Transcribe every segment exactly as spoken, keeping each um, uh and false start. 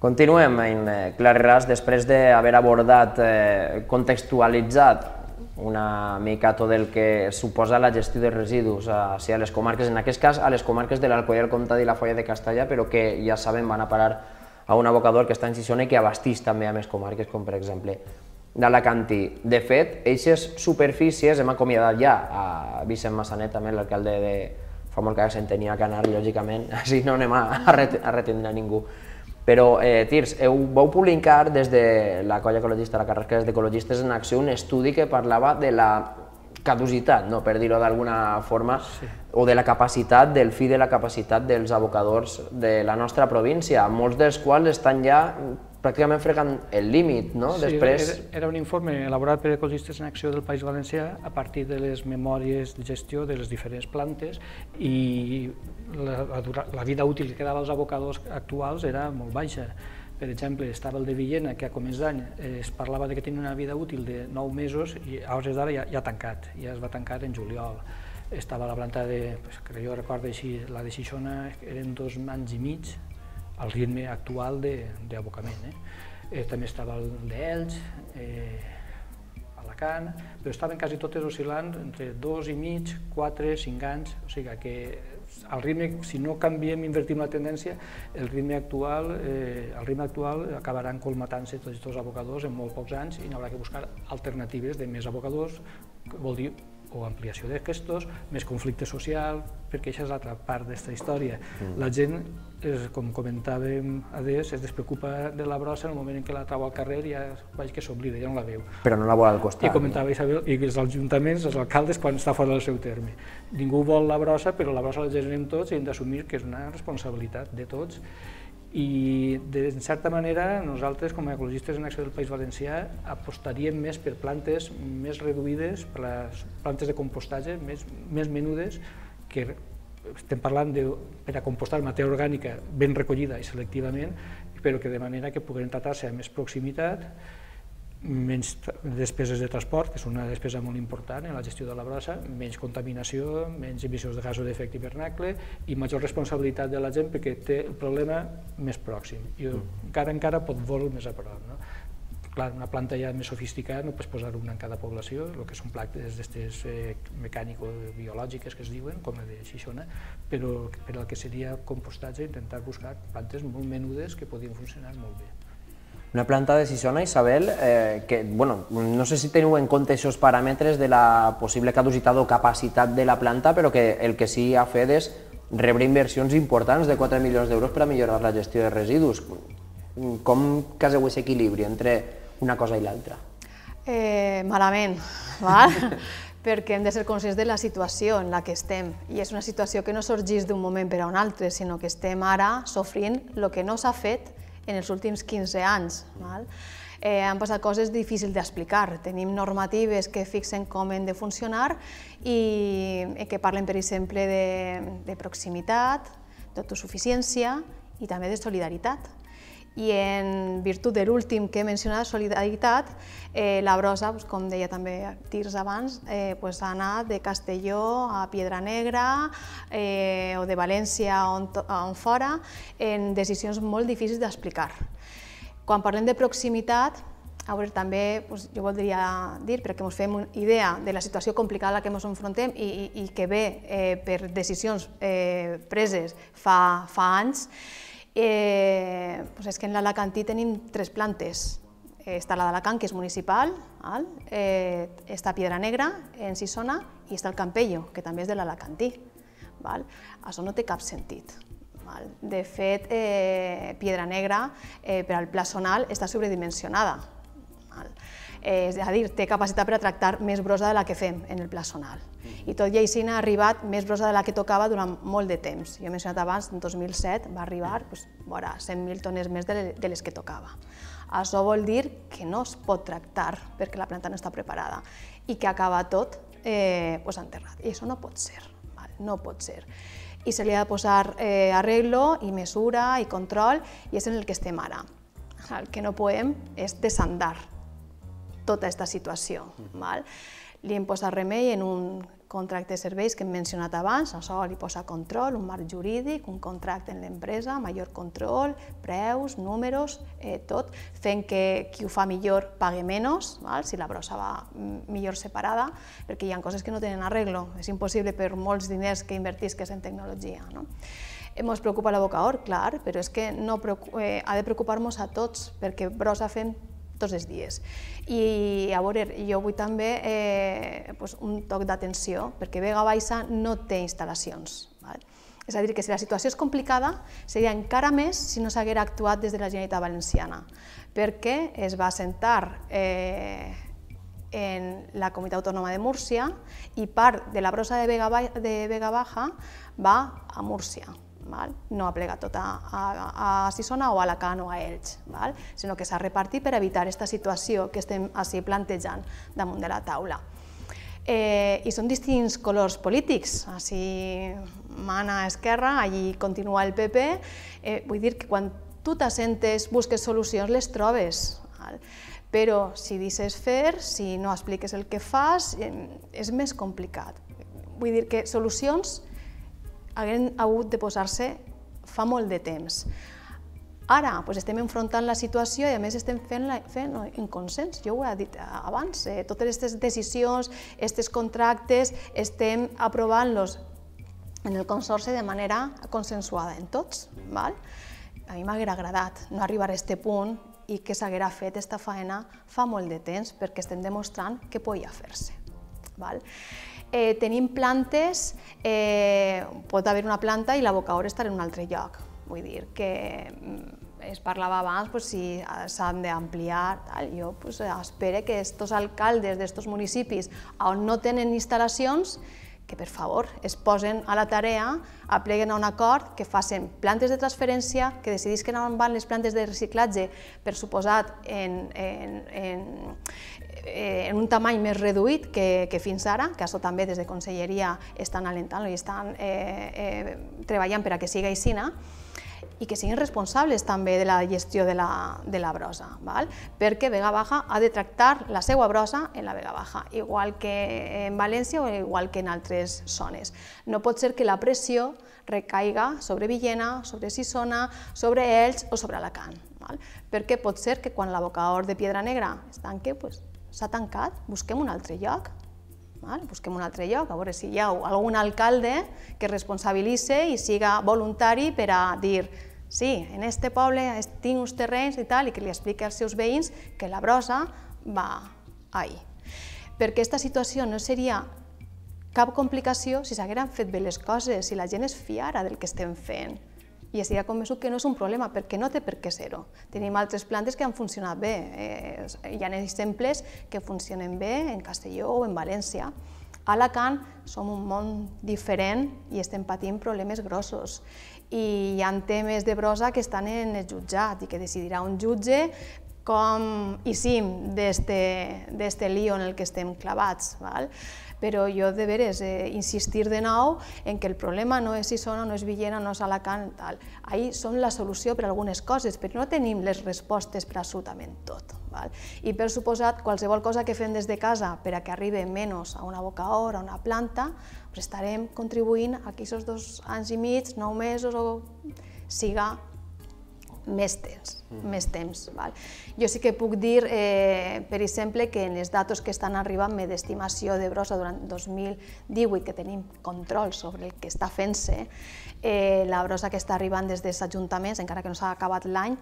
Continuem en Clareràs després d'haver abordat, contextualitzat una mica tot el que suposa la gestió de residus a les comarques, en aquest cas a les comarques de l'Alcoià, el Comtat i la Foia de Castellà, però que ja sabem van a parar a un abocador que està en Xixona i que abastís també a més comarques, com per exemple d'Alacantí. De fet, aquestes superfícies hem acomiadat ja a Vicent Massanet, també l'alcalde de fa molt que se'n tenia que anar, lògicament, així no anem a retindre a ningú. Però, Tirs, vau publicar des de la colla ecologista, la Carrasca d'Ecologistes en Acció, un estudi que parlava de la caducitat, per dir-ho d'alguna forma, o de la capacitat, del fi de la capacitat dels abocadors de la nostra província, molts dels quals estan ja pràcticament fregant el límit, no? Sí, era un informe elaborat per Ecologistes en Acció del País Valencià a partir de les memòries de gestió de les diferents plantes i la vida útil que quedava als abocadors actuals era molt baixa. Per exemple, estava el de Villena, que a començ d'any es parlava que tenia una vida útil de nou mesos i a hores d'ara ja ha tancat, ja es va tancar en juliol. Estava la planta de, que jo recordo així, la de Xixona, eren dos anys i mig, al ritme actual d'abocament. També estava el d'Elx, Alacant, però estaven quasi totes oscil·lant entre dos i mig, quatre, cinc anys, o sigui que al ritme, si no canviem, invertim la tendència, el ritme actual, el ritme actual acabaran colmatant-se tots els abocadors en molt pocs anys i n'haurà que buscar alternatives de més abocadors, que vol dir o ampliació d'aquestos, més conflicte social, perquè això és l'altra part d'aquesta història. La gent, com comentàvem adés, es despreocupa de la brossa en el moment en què la trau al carrer i ja veig que s'oblida, ja no la veu. Però no la vol al costat. I comentava Isabel, i els ajuntaments, els alcaldes, quan està fora del seu terme. Ningú vol la brossa, però la brossa la generem tots i hem d'assumir que és una responsabilitat de tots. I, de certa manera, nosaltres, com a ecologistes en Acció del País Valencià, apostaríem més per plantes més reduïdes, per les plantes de compostatge més menudes, que estem parlant per a compostar matèria orgànica ben recollida i selectivament, però que de manera que puguin tratar-se amb més proximitat, menys despeses de transport, que és una despesa molt important en la gestió de la brossa, menys contaminació, menys emissions de gasos d'efecte hivernacle i major responsabilitat de la gent perquè té el problema més pròxim i encara encara pot veure més a prop. Clar, una planta ja més sofisticada no pots posar una en cada població, el que són plantes d'aquestes mecànico-biològiques que es diuen, com la de Xixona, però per al que seria compostatge intentar buscar plantes molt menudes que podien funcionar molt bé. Una planta de Xixona, Isabel, que no sé si teniu en compte aquests paràmetres de la possible caducitat o capacitat de la planta, però que el que sí ha fet és rebre inversions importants de quatre milions d'euros per a millorar la gestió de residus. Com caseu aquest equilibri entre una cosa i l'altra? Malament, perquè hem de ser conscients de la situació en la que estem i és una situació que no sorgeix d'un moment per a un altre, sinó que estem ara sofrint el que no s'ha fet en els últims quinze anys. Han passat coses difícils d'explicar. Tenim normatives que fixen com han de funcionar i que parlen, per exemple, de proximitat, d'autosuficiència i també de solidaritat. I en virtut de l'últim que he mencionat, solidaritat, la brossa, com deia també Tirs abans, ha anat de Castelló a Piedra Negra o de València on fora en decisions molt difícils d'explicar. Quan parlem de proximitat, també jo voldria dir, perquè ens fem una idea de la situació complicada a la que ens enfrontem i que ve per decisions preses fa anys, és que en l'Alacantí tenim tres plantes. Està la d'Alacant, que és municipal, està Piedra Negra, en Xixona, i està el Campello, que també és de l'Alacantí. Això no té cap sentit. De fet, Piedra Negra, per al pla zonal, està sobredimensionada. És a dir, té capacitat per a tractar més brossa de la que fem en el pla zonal. I tot i així n'ha arribat més brossa de la que tocava durant molt de temps. Jo he mencionat abans, en dos mil set va arribar cent mil tones més de les que tocava. Això vol dir que no es pot tractar perquè la planta no està preparada i que acaba tot enterrat. I això no pot ser, no pot ser. I se li ha de posar arreglo i mesura i control i és en el que estem ara. El que no podem és desandar tota aquesta situació. Li hem posat remei en un contracte de serveis que hem mencionat abans, això li posa control, un marc jurídic, un contracte en l'empresa, major control, preus, números, eh, tot, fent que qui ho fa millor pague menys, val? Si la brossa va millor separada, perquè hi ha coses que no tenen arreglo, és impossible per molts diners que invertisques en tecnologia. No? Ens preocupa l'abocador, clar, però és que no eh, ha de preocupar-nos a tots, perquè brossa fem tots els dies. I a veure, jo vull també eh, pues, un toc d'atenció, perquè Vega Baixa no té instal·lacions. Val? És a dir, que si la situació és complicada, seria encara més si no s'haguera actuat des de la Generalitat Valenciana, perquè es va assentar eh, en la Comunitat Autònoma de Múrcia i part de la brossa de Vega, de Vega Baja va a Múrcia. Val? No ha plegat tot a, a, a Sisona o a Alacant o a Elx, val? Sinó que s'ha repartit per evitar aquesta situació que estem així plantejant damunt de la taula. Eh, I són distints colors polítics, així mana a Esquerra, allí continua el P P, eh, vull dir que quan tu t'assentes, busques solucions, les trobes. Val? Però si deixes fer, si no expliques el que fas, eh, és més complicat. Vull dir que solucions hagueren hagut de posar-se fa molt de temps. Ara doncs, estem enfrontant la situació i a més estem fent-la fent en consens, jo ho he dit abans, eh, totes aquestes decisions, aquests contractes, estem aprovant-los en el consorci de manera consensuada en tots. Val? A mi m'haguera agradat no arribar a aquest punt i que s'haguera fet aquesta feina fa molt de temps perquè estem demostrant que podia fer-se. Val? Eh, tenim plantes, eh, pot haver una planta i l'abocador estar en un altre lloc. Vull dir que es parlava abans pues, si s'han d'ampliar. Jo pues, espero que aquests alcaldes d'aquests municipis on no tenen instal·lacions que per favor es posen a la tarea, apleguen a un acord, que facin plantes de transferència, que decidisquen on van les plantes de reciclatge, per suposat en, en, en, en un tamany més reduït que, que fins ara, que això també des de Conselleria estan alentant-lo i estan eh, eh, treballant per a que sigui així, i que siguin responsables també de la gestió de la, de la brossa, val? Perquè Vega Baja ha de tractar la seva brossa en la Vega Baja, igual que en València o igual que en altres zones. No pot ser que la pressió recaiga sobre Villena, sobre Sisona, sobre Elx o sobre Alacant, val? Perquè pot ser que quan l'abocador de Piedra Negra es tanqui, pues, s'ha tancat, busquem un altre lloc. Busquem un altre lloc, a veure si hi ha algun alcalde que responsabilitzi i siga voluntari per a dir sí, en este poble tinc uns terrenys i tal, i que li expliqui als seus veïns que la brossa va ahí. Perquè aquesta situació no seria cap complicació si s'hagueren fet bé les coses, si la gent es fiara del que estem fent. I estic convençut que no és un problema, perquè no té per què ser-ho. Tenim altres plantes que han funcionat bé. Hi ha exemples que funcionen bé en Castelló o en València. A Alacant som un món diferent i estem patint problemes grossos. I hi ha temes de brossa que estan en el jutjat i que decidirà un jutge com eixim d'este lío en el que estem clavats. Però jo de veres insistir de nou en que el problema no és Sisona, no és Villena, no és Alacant, ahí són la solució per a algunes coses, però no tenim les respostes per a absolutament tot. I per suposat, qualsevol cosa que fem des de casa per a que arribi menys a un abocador, a una planta, estarem contribuint a que aquests dos anys i mig, nou mesos, siga més temps, més temps. Jo sí que puc dir, per exemple, que en els datos que estan arribant d'estimació de brossa durant dos mil divuit, que tenim control sobre el que està fent-se, la brossa que està arribant des dels ajuntaments, encara que no s'ha acabat l'any,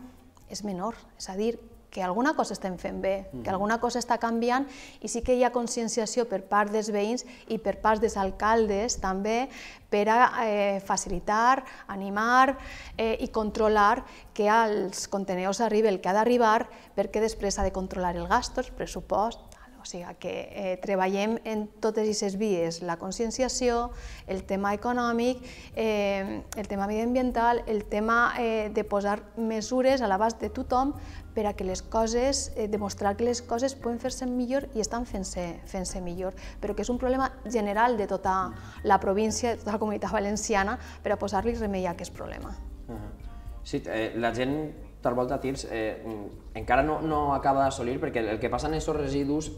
és menor. És a dir, que alguna cosa estem fent bé, que alguna cosa està canviant i sí que hi ha conscienciació per part dels veïns i per part dels alcaldes també per a facilitar, animar i controlar que als contenidors arribi el que ha d'arribar perquè després s'ha de controlar el gasto, el pressupost. O sigui que treballem en totes aquestes vies, la conscienciació, el tema econòmic, el tema mediambiental, el tema de posar mesures a l'abast de tothom per a que les coses, demostrar que les coses poden fer-se millor i estan fent-se millor, però que és un problema general de tota la província, de tota la Comunitat Valenciana, per a posar-li remei a aquest problema. Sí, la gent tal volta tirs encara no acaba d'assolir, perquè el que passa en aquests residus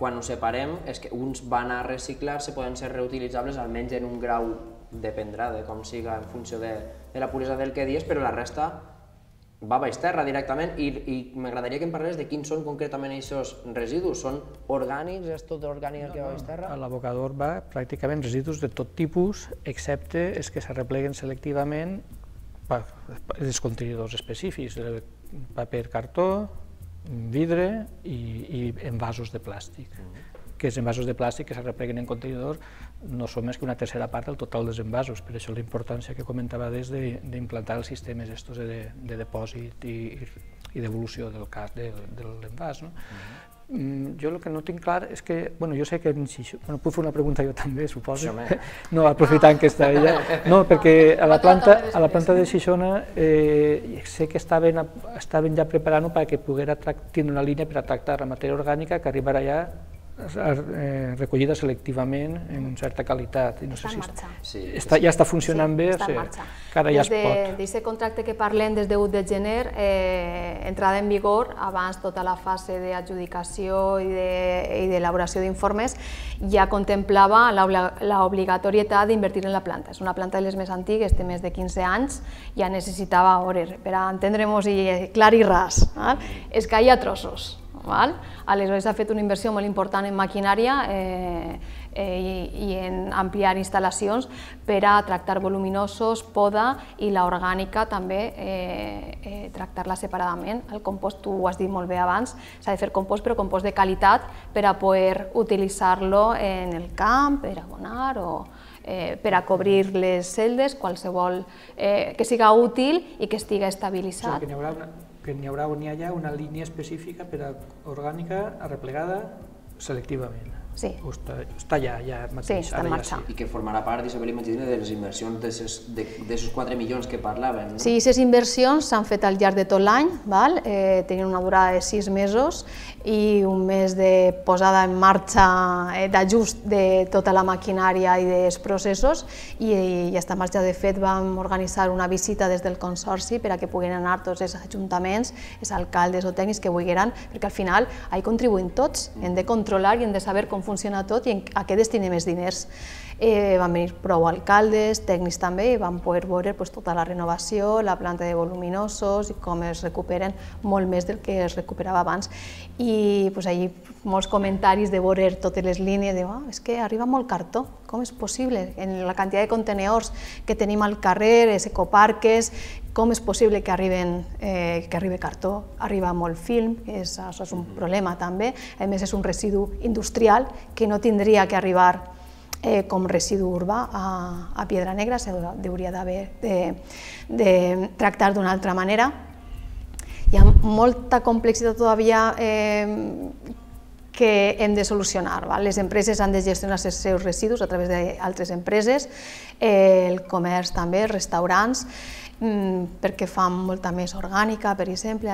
quan ho separem, és que uns van a reciclar-se, poden ser reutilitzables almenys en un grau, dependrà de com siga en funció de la puresa del que dius, però la resta va a baix terra directament i m'agradaria que em parlés de quins són concretament aquests residus. Són orgànics? És tot orgànic el que va a baix terra? A l'abocador va pràcticament residus de tot tipus, excepte els que s'arrepleguen selectivament per els contenidors específics, paper, cartó, vidre i envasos de plàstic. Que els envasos de plàstic que s'arrepleguen en contenidor no són més que una tercera part del total dels envasos, per això la importància que comentava des d'implantar els sistemes de depòsit i devolució del l'envàs. Jo el que no tinc clar és que, bueno, jo sé que en Xixona, puc fer una pregunta jo també, suposo, no, aprofitant que està ella, no, perquè a la planta de Xixona sé que estaven ja preparant-ho perquè poguera tenir una línia per a tractar la matèria orgànica que arribarà ja recollida selectivament en certa qualitat. Està en marxa. Ja està funcionant bé, ara ja es pot. Des d'aquest contracte que parlem des de u de gener, entrada en vigor, abans tota la fase d'adjudicació i d'elaboració d'informes, ja contemplava l'obligatorietat d'invertir en la planta. És una planta de les més antigues, té més de quinze anys, ja necessitava, per a entendre-nos clar i ras, es caia a trossos. Aleshores s'ha fet una inversió molt important en maquinària i en ampliar instal·lacions per a tractar voluminosos, poda i l'orgànica també tractar-la separadament. El compost, tu ho has dit molt bé abans, s'ha de fer compost, però compost de qualitat per a poder utilitzar-lo en el camp, per abonar o per a cobrir les celdes, qualsevol que siga útil i que estigui estabilitzat. Que n'hi haurà o n'hi ha una línia específica per a orgànica arreplegada selectivament. Sí. Està ja, ja mateix. Sí, està en marxa. I que formarà part, Isabel, imagina, de les inversions d'aquests quatre milions que parlaven. Sí, aquestes inversions s'han fet al llarg de tot l'any, tenien una durada de sis mesos i un mes de posada en marxa d'ajust de tota la maquinària i dels processos i ja està en marxa. De fet, vam organitzar una visita des del Consorci per a que puguin anar tots els ajuntaments, els alcaldes o tècnics que vulguin, perquè al final hi contribuïm tots, hem de controlar i hem de saber com funciona tot i a què destinem els diners. Van venir prou alcaldes, tècnics també, i van poder veure tota la renovació, la planta de voluminosos i com es recuperen molt més del que es recuperava abans. I allà molts comentaris de veure totes les línies, de és que arriba molt cartó, com és possible? En la quantitat de contenedors que tenim al carrer, els ecoparques, com és possible que arribi cartó? Arriba molt film, això és un problema també, a més és un residu industrial que no tindria que arribar com residu urbà a Piedra Negra, s'hauria d'haver de tractar d'una altra manera. Hi ha molta complexitat todavía que hem de solucionar. Les empreses han de gestionar els seus residus a través d'altres empreses, el comerç també, els restaurants, perquè fan molta més orgànica, per exemple.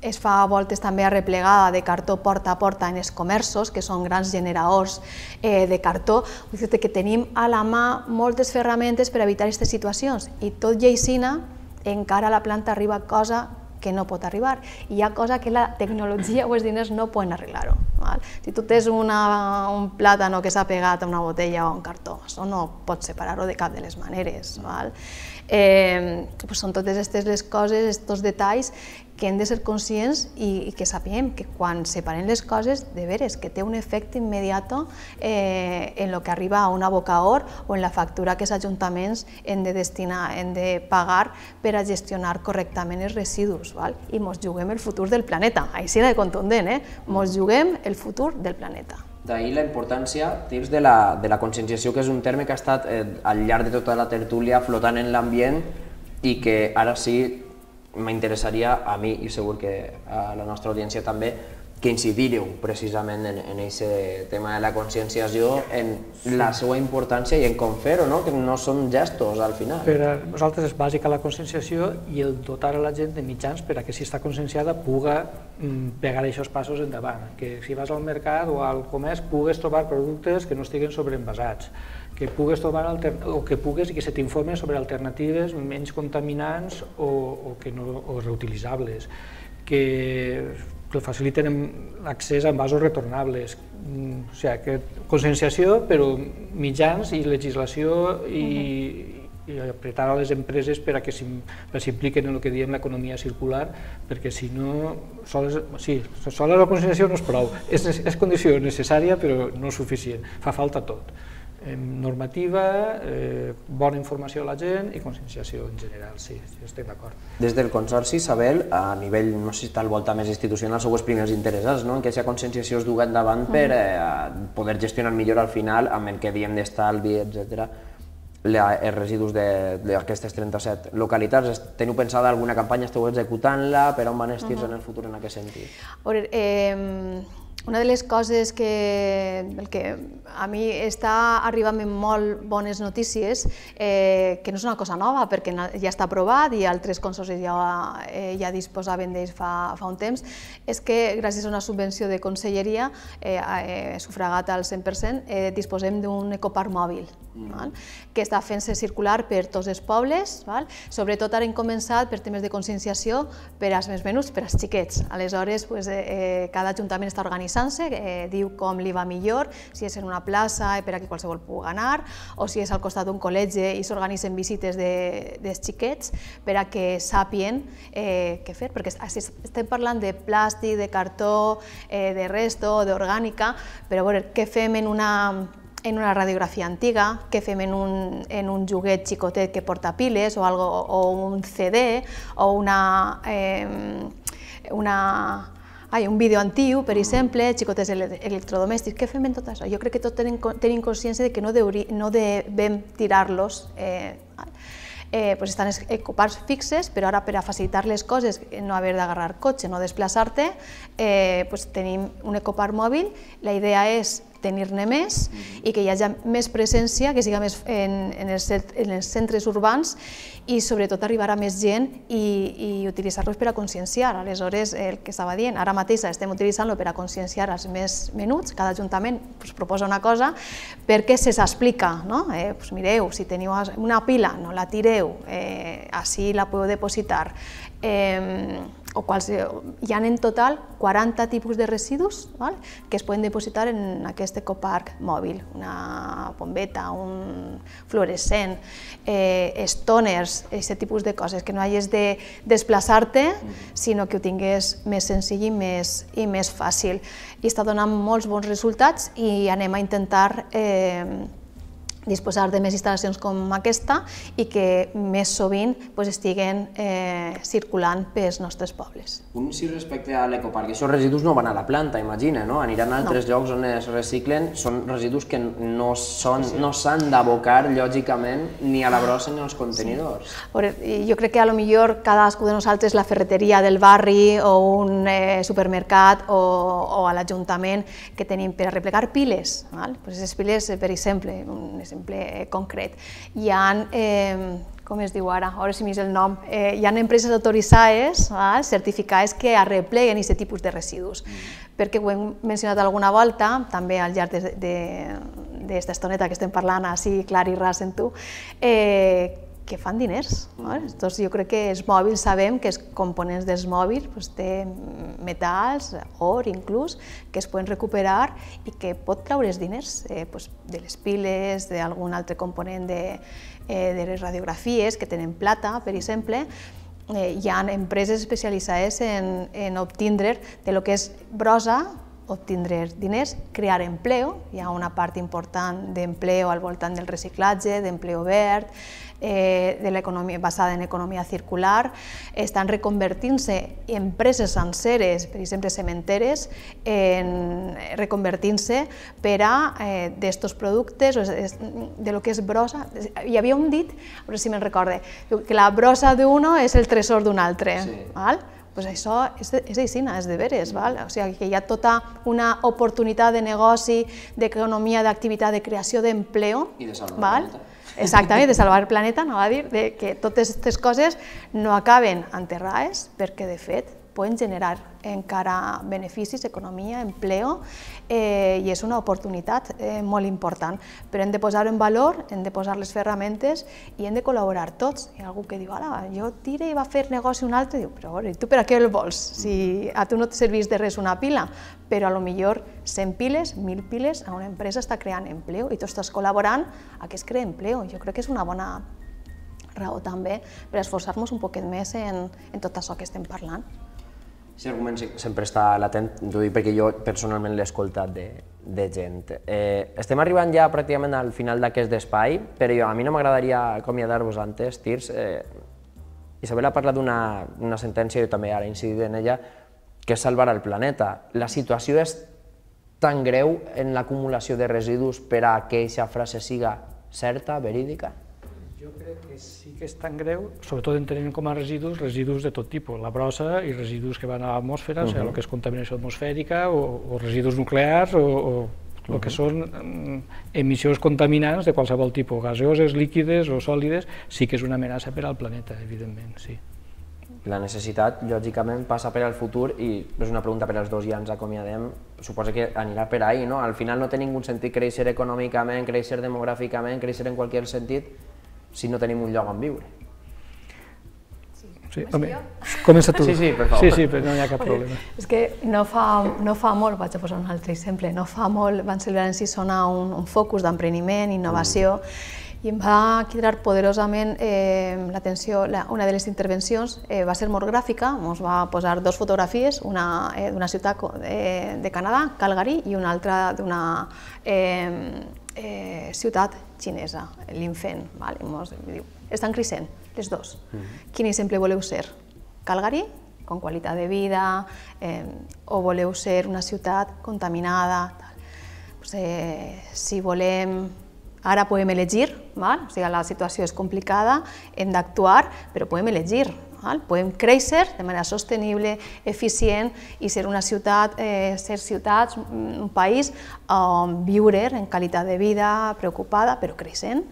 Es fa a voltes també arreplegada de cartó porta a porta en els comerços, que són grans generadors de cartó. Vull dir que tenim a la mà moltes ferramentes per evitar aquestes situacions i tot i així encara a la planta arriba cosa que no pot arribar. I hi ha cosa que la tecnologia o els diners no poden arreglar-ho. Si tu tens un plàtano que s'ha pegat a una botella o a un cartó, això no pots separar-ho de cap de les maneres. Són totes aquestes les coses, aquests detalls que hem de ser conscients i que sapiguem que quan separem les coses, de veres, que té un efecte immediat en el que arriba a un abocador o en la factura que els ajuntaments hem de destinar, hem de pagar per a gestionar correctament els residus. I ens juguem el futur del planeta, així de contundent, ens juguem el futur del planeta. D'ahir la importància, tips, de la conscienciació, que és un terme que ha estat al llarg de tota la tertúlia flotant en l'ambient i que ara sí m'interessaria a mi i segur que a la nostra audiència també que incidiríeu precisament en aquest tema de la conscienciació, en la seva importància i en com fer-ho, que no són gestos al final. Per a nosaltres és bàsica la conscienciació i el dotar a la gent de mitjans per a que si està conscienciada puga pegar aquests passos endavant, que si vas al mercat o al comerç pugues trobar productes que no estiguen sobreenvasats, que pugues trobar o que pugues i que se t'informen sobre alternatives menys contaminants o reutilitzables, que que faciliten l'accés a envasos retornables. O sigui, que conscienciació, però mitjans i legislació i, i apretar a les empreses per a que s'impliquen en el que diem l'economia circular, perquè si no, sols, sí, sols la conscienciació no és prou, és, és condició necessària però no és suficient, fa falta tot. Normativa, eh, bona informació a la gent i conscienciació en general, sí, sí, estic d'acord. Des del Consorci, Isabel, a nivell, no sé si està al volta més institucional, sou els primers interessats en que aquesta conscienciació es dugui endavant per poder gestionar millor al final amb el que diem d'estalvi, etcètera, els residus d'aquestes trenta-set localitats. Teniu pensada alguna campanya, esteu executant-la, per on van els tirs en el futur en aquest sentit? A veure, una de les coses que a mi està arribant amb molt bones notícies, que no és una cosa nova perquè ja està aprovat i altres consorcis ja disposaven d'ells fa un temps, és que gràcies a una subvenció de conselleria sufragat al cent per cent disposem d'un ecoparc mòbil que està fent-se circular per tots els pobles. Sobretot ara hem començat per temes de conscienciació per als més menuts, per als xiquets. Aleshores, cada ajuntament està organitzant-se, diu com li va millor, si és en una plaça per a que qualsevol pugui anar, o si és al costat d'un col·legi i s'organitzen visites dels xiquets per a que sàpien què fer, perquè estem parlant de plàstic, de cartó, de resto, d'orgànica, però a veure, què fem en una en una radiografia antiga, què fem en un joguet xicotet que porta piles o un C D o un vídeo antiu, per exemple, xicotets electrodomèstics. Què fem en tot això? Jo crec que tots tenim consciència que no devem tirar-los. Estan els ecoparcs fixes, però ara per a facilitar les coses, no haver d'agarrar cotxe, no desplaçar-te, tenim un ecoparc mòbil. La idea és tenir-ne més i que hi hagi més presència, que siga més en els centres urbans i sobretot arribar a més gent i utilitzar-los per a conscienciar. Aleshores, el que estava dient, ara mateix estem utilitzant-lo per a conscienciar els més menuts, cada ajuntament proposa una cosa perquè se s'explica. Mireu, si teniu una pila, no la tireu, així la podeu depositar. Hi ha en total quaranta tipus de residus que es poden depositar en aquest ecoparc mòbil. Una bombeta, un fluorescent, estoners, aquest tipus de coses, que no hagis de desplaçar-te, sinó que ho tingués més senzill i més fàcil. I està donant molts bons resultats i anem a intentar disposar de més instal·lacions com aquesta i que més sovint estiguen circulant pels nostres pobles. Un sí respecte a l'ecoparc, aquests residus no van a la planta, imagina, no? Aniran a altres llocs on es reciclen, són residus que no s'han d'abocar, lògicament, ni a la brossa ni als contenidors. Jo crec que potser cadascú de nosaltres, la ferreteria del barri o un supermercat o a l'Ajuntament que tenim per a replegar piles, aquestes piles, per exemple, un exemple concret, hi ha, com es diu ara, ara si m'és el nom, hi ha empreses autoritzades, certificades que arrepleguen aquest tipus de residus, perquè ho hem mencionat alguna volta, també al llarg d'esta estoneta que estem parlant així clar i ras en tu, que fan diners. Jo crec que els mòbils sabem que els components dels mòbils té metalls, or inclús, que es poden recuperar i que pot treure's diners de les piles, d'algun altre component de les radiografies que tenen plata, per exemple. Hi ha empreses especialitzades en obtindre de lo que és brossa, obtindre diners, crear empleo, hi ha una part important d'empleo al voltant del reciclatge, d'empleo verd, basada en economia circular, estan reconvertint-se empreses senceres, per exemple cementeres, reconvertint-se per a d'estos productes, de lo que és brossa. Hi havia un dit, a veure si me'n recorde, que la brossa d'uno és el tresor d'un altre. Doncs això és aixina, és de veres. O sigui que hi ha tota una oportunitat de negoci, d'economia, d'activitat, de creació d'empleo. I de salvar el planeta. Exactament, de salvar el planeta, anava a dir, que totes aquestes coses no acaben enterrades, perquè de fet poden generar encara beneficis, economia, empleo, eh, i és una oportunitat eh, molt important. Però hem de posar-ho en valor, hem de posar les ferramentes i hem de col·laborar tots. Hi ha algú que diu, ala, jo tire i va fer negoci un altre, i diu, però i tu per a què el vols? Si a tu no et serveix de res una pila, però a lo millor cent piles, mil piles, a una empresa està creant empleo i tu estàs col·laborant a que es creï empleo. Jo crec que és una bona raó també per esforçar-nos un poquet més en, en tot això que estem parlant. Aquest argument sempre està latent, t'ho dic perquè jo personalment l'he escoltat de, de gent. Eh, estem arribant ja pràcticament al final d'aquest espai, però jo, a mi no m'agradaria acomiadar-vos antes, Tirs. Eh, Isabel ha parlat d'una sentència, jo també ara he incidit en ella, que és salvar el planeta. La situació és tan greu en l'acumulació de residus per a que aquesta frase siga certa, verídica? Jo crec que sí que és tan greu, sobretot entenent com a residus, residus de tot tipus, la brossa i residus que van a l'atmosfera, o sigui, el que és contaminació atmosfèrica, o residus nuclears, o el que són emissions contaminants de qualsevol tipus, gaseoses, líquides o sòlides, sí que és una amenaça per al planeta, evidentment, sí. La necessitat, lògicament, passa per al futur i és una pregunta per als dos i ja ens acomiadem, suposo que anirà per ahí, no? Al final no té ningú sentit créixer econòmicament, créixer demogràficament, créixer en qualsevol sentit, si no tenim un lloc on viure. Sí, home, comença tu. Sí, sí, per favor. Sí, sí, però no hi ha cap problema. És que no fa, no fa molt, vaig a posar un altre exemple, no fa molt van celebrar en Sisona un, un focus d'empreniment, innovació, i em va cridar poderosament eh, l'atenció, una de les intervencions eh, va ser molt gràfica, ens va posar dues fotografies, una eh, d'una ciutat eh, de Canadà, Calgary, i una altra d'una eh, eh, ciutat xinesa, l'Infen. Vale? Diu, estan creixent, les dues. Mm-hmm. Quin exemple voleu ser? Calgary, con qualitat de vida, eh, o voleu ser una ciutat contaminada? Tal. Pues, eh, si volem... Ara podem elegir, val? O sigui, la situació és complicada, hem d'actuar, però podem elegir. Val? Podem créixer de manera sostenible, eficient i ser una ciutat, eh, ser ciutats, un país on viure en qualitat de vida, preocupada, però creixent.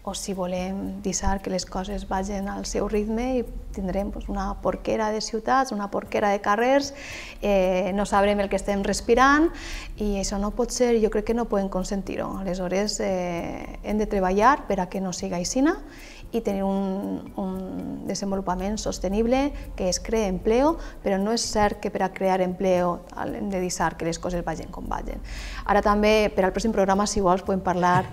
O si volem deixar que les coses vagin al seu ritme i tindrem pues, una porquera de ciutats, una porquera de carrers, eh, no sabrem el que estem respirant i això no pot ser, jo crec que no podem consentir-ho. Aleshores, eh, hem de treballar per a que no siga així i tenir un, un desenvolupament sostenible que es creï empleo, però no és cert que per a crear empleo hem de deixar que les coses vagin com vagin. Ara també, per al pròxim programa, si vols, podem parlar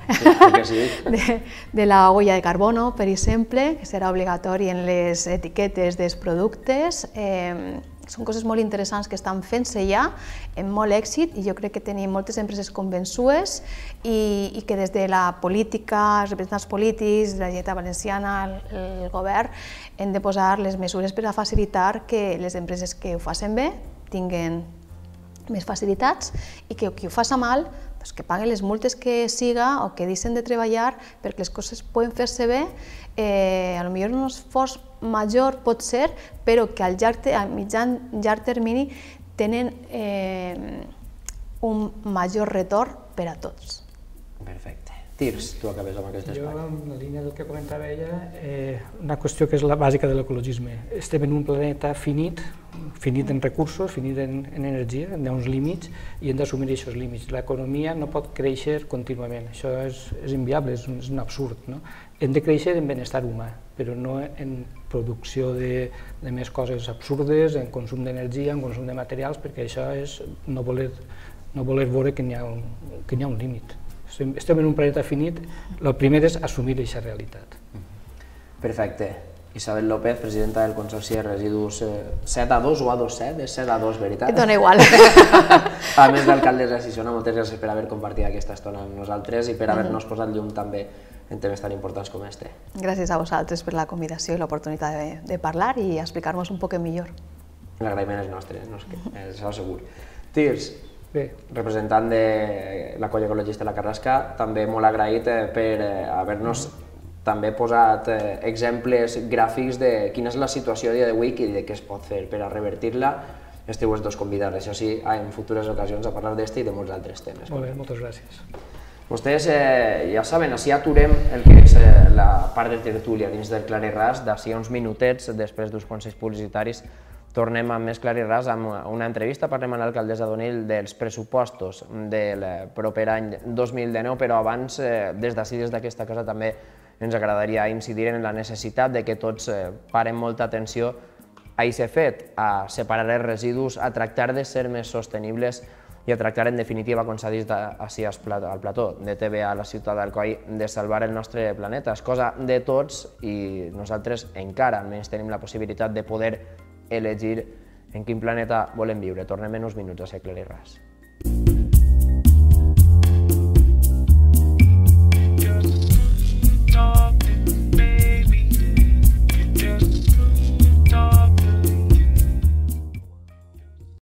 sí. de, de la huella de carbono, per exemple, que serà obligatori en les etiquetes dels productes. Eh, són coses molt interessants que estan fent-se ja, amb molt èxit, i jo crec que tenim moltes empreses convençudes i, i que des de la política, els representants polítics, la Generalitat Valenciana, el, el govern, hem de posar les mesures per a facilitar que les empreses que ho facin bé tinguin més facilitats i que qui ho faci mal pues que paguen les multes que siga o que deixen de treballar perquè les coses poden fer-se bé, eh, a lo millor un esforç major pot ser, però que al llarg, a mitjà llarg termini tenen eh, un major retorn per a tots. Perfecte. Tirs, tu acabes amb aquest espai. Jo, en la línia del que comentava ella, eh, una qüestió que és la bàsica de l'ecologisme. Estem en un planeta finit, finit en recursos, finit en, en energia, hi ha uns límits i hem d'assumir aquests límits. L'economia no pot créixer contínuament, això és, és inviable, és un, és un absurd. No? Hem de créixer en benestar humà, però no en producció de, de més coses absurdes, en consum d'energia, en consum de materials, perquè això és no voler, no voler veure que n'hi ha, que n'hi ha un límit. Estem en un planeta finit, el primer és assumir aquesta realitat. Perfecte. Isabel López, presidenta del Consorci de Residus set A dos o A dos set, és set A dos, veritat? Et dona igual. A més d'alcaldessa de Sisona, moltes gràcies per haver compartit aquesta estona amb nosaltres i per haver-nos posat llum també en temes tan importants com este. Gràcies a vosaltres per la convidació i l'oportunitat de, de parlar i explicar-nos un poc millor. L'agraïment és nostre, no és que, això segur. Tirs, Bé. representant de la colla ecologista La Carrasca, també molt agraït per haver-nos també posat exemples gràfics de quina és la situació a dia d'avui i de què es pot fer per a revertir-la. Esteu els dos convidats, això sí, en futures ocasions a parlar d'este i de molts altres temes. Molt bé, moltes gràcies. Vostès eh, ja saben, així aturem el que és eh, la part de tertúlia dins del Clar i Ras, d'ací a uns minutets, després d'uns consells publicitaris, tornem amb més clar i ras amb una entrevista, parlem amb l'alcaldessa d'Onil dels pressupostos del proper any dos mil dinou, però abans, des d'ací, des d'aquesta casa, també ens agradaria incidir en la necessitat de que tots parem molta atenció a aquest fet, a separar els residus, a tractar de ser més sostenibles i a tractar, en definitiva, com s'ha dit ací al plató de T V A a la ciutat d'Alcoi, de salvar el nostre planeta. És cosa de tots i nosaltres encara almenys tenim la possibilitat de poder elegir en quin planeta volem viure. Tornem en uns minuts a Ser Clar i Ras.